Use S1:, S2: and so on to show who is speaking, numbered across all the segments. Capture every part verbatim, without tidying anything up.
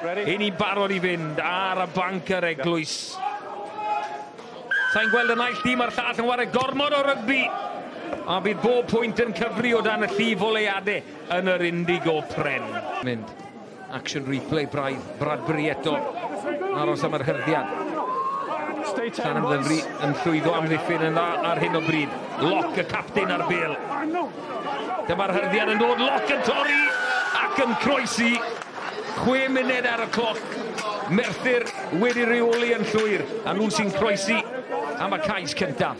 S1: Ein ni'n barod i fynd ar y banc yr Eglwys. Sa'n gweld y naill dîm a'r llall yn chwarae gormod o rygbi. A bydd bob pwynt yn cyfri o dan y llif oleuadau yn yr Indigo Pren. Mynd. Action replay braidd. Bradbury eto. Aros am yr hyrddiad. Llanymddyfri yn llwyddo amddiffyn yn dda ar hyn o bryd. Lock y captain ar bêl. Dyma'r hyrddiad yn dod. Lock yn torri ac yn croesi. Chwe munud ar y cloc. Merthyr wedi reoli yn llwyr. A nhw sy'n croesi am y cais cyntaf.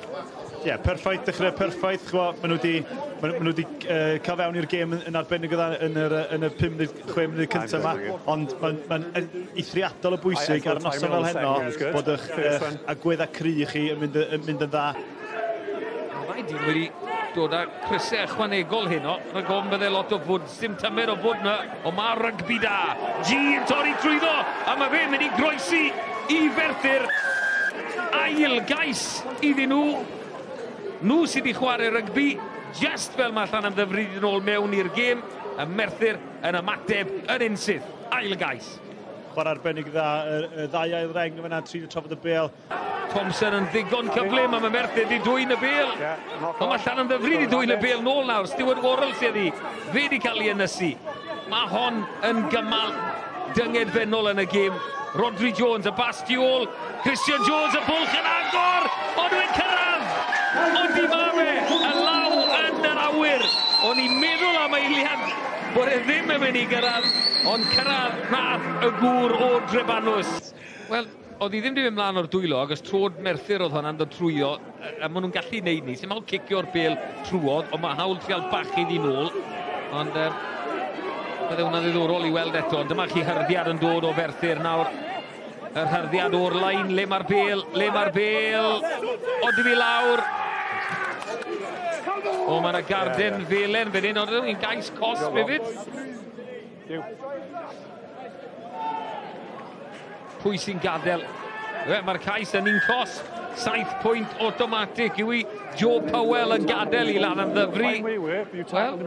S2: Ie, yeah, perffaith, dechrau perffaith. Maen nhw wedi, maen nhw wedi uh, cael fewn i'r gêm yn arbennig o dda yn yr, yn y pum munud, chwe munud cyntaf yma. Ond mae'n ma eithriadol o bwysig ar noson fel heno bod eich, eich agweddau cry chi yn mynd, yn mynd yn dda.
S1: Mae dyn wedi dod â crysau ychwanegol heno. Rhag ofn bydde lot o fwd, dim tymer o fwd yna, ond mae rygbi da. G yn torri trwyddo, a mae fe'n mynd i groesi i Ferthyr. Ail gais iddyn nhw. Nhw sydd wedi chwarae rygbi, just fel mae Llanymddyfri yn ôl mewn i'r gêm, y Merthyr yn ymateb yn unsyth. Ail gais.
S2: Chwarae arbennig dda, y ddau ail reng yna, tri yn trafod y bêl.
S1: Thompson yn ddigon cyflym, a mae Merthyr wedi dwyn y bêl. Ond mae Llanymddyfri wedi dwyn y bêl nôl nawr. Stuart Worrell sydd wedi, fe wedi cael ei ynysu. Mae hon yn gymal dyngedfennol yn y gêm. Rodri Jones, y bas tu ôl. Christian Jones, y bwlch yn agor! Ond dwi'n cyrraedd! Ond di ma fe, y law yn yr awyr. O'n i'n meddwl am eiliad bod e ddim yn mynd i gyrraedd, ond cyrraedd nath y gŵr o Drebanws. Wel, oedd hi ddim wedi mynd mlaen o'r dwylo, agos trod Merthyr oedd hwnna'n dod trwyddo, a maen nhw'n gallu neud ni. Sy'n hawl cicio'r bêl trwodd, ond mae hawl trial bachu iddi nôl. Ond um, bydde hwnna'n ddiddorol i weld eto. Ond dyma chi hyrddiad yn dod o Ferthyr nawr. Yr hyrddiad o'r lein, le mae'r bêl, le mae'r bêl, odi fi lawr. O, mae yna garden felen fan hyn, ond yn gais cosb hefyd. Pwy sy'n gadael? Mae'r cais yn un cosb. Saith pwynt automatic yw i Joe Powell yn gadael i Lanymddyfri. Wel,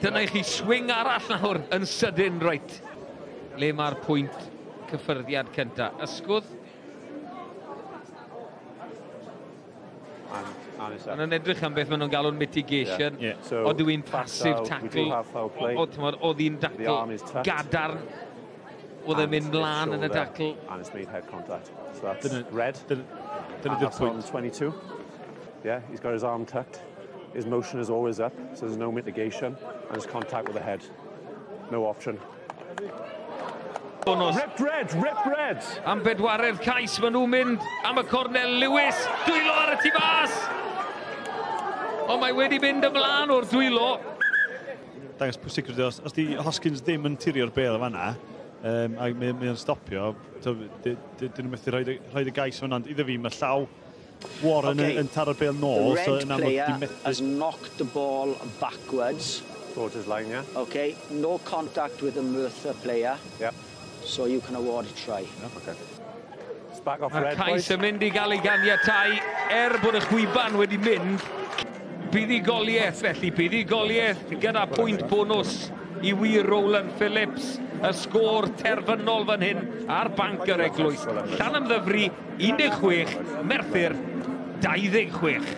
S1: dyna i chi swing arall nawr yn sydyn, reit. Le mae'r pwynt cyffyrddiad cynta. Ysgwdd. Yn yn edrych am beth maen nhw'n galw'n mitigation. Yeah. Yeah. So, oedd yw'n passive tackle. Oedd hi'n tackle gadarn. Oedd e'n mynd mlaen yn y tackle.
S3: And it's made head contact. So that's red.
S2: Dyna di'r pwynt.
S3: twenty-two. Yeah, he's got his arm tucked. His motion is always up, so there's no mitigation. And his contact with the head. No option.
S1: Bonus.
S3: Rip red, rip red!
S1: Am bedwaredd cais, maen nhw'n mynd am y cornel. Lewis, dwylo ar y tu fas! Ond mae wedi mynd ymlaen o'r dwylo.
S2: Dangos pwysigrwydd, os, os di Hoskins ddim yn tirio'r bêl o fanna, um, a mae o'n stopio, dyn nhw'n methu rhoi, rhoi y gais fanna, ond iddo fi, mae llaw Warren okay. yn, yn taro'r bêl nôl.
S4: The red
S2: so
S4: player has knocked the ball backwards.
S3: Towards his line, yeah.
S4: Okay, no contact with the Merthyr player.
S3: Yeah.
S4: So you can award a try.
S3: Okay.
S1: Mae'r cais yn mynd i gael ei ganiatáu, er bod y chwiban wedi mynd. Buddugoliaeth felly, buddugoliaeth gyda pwynt bonws i wir Rowland Phillips. Y sgôr terfynol fan hyn ar banc yr Eglwys. Llanymddyfri un deg chwech, Merthyr dau ddeg chwech.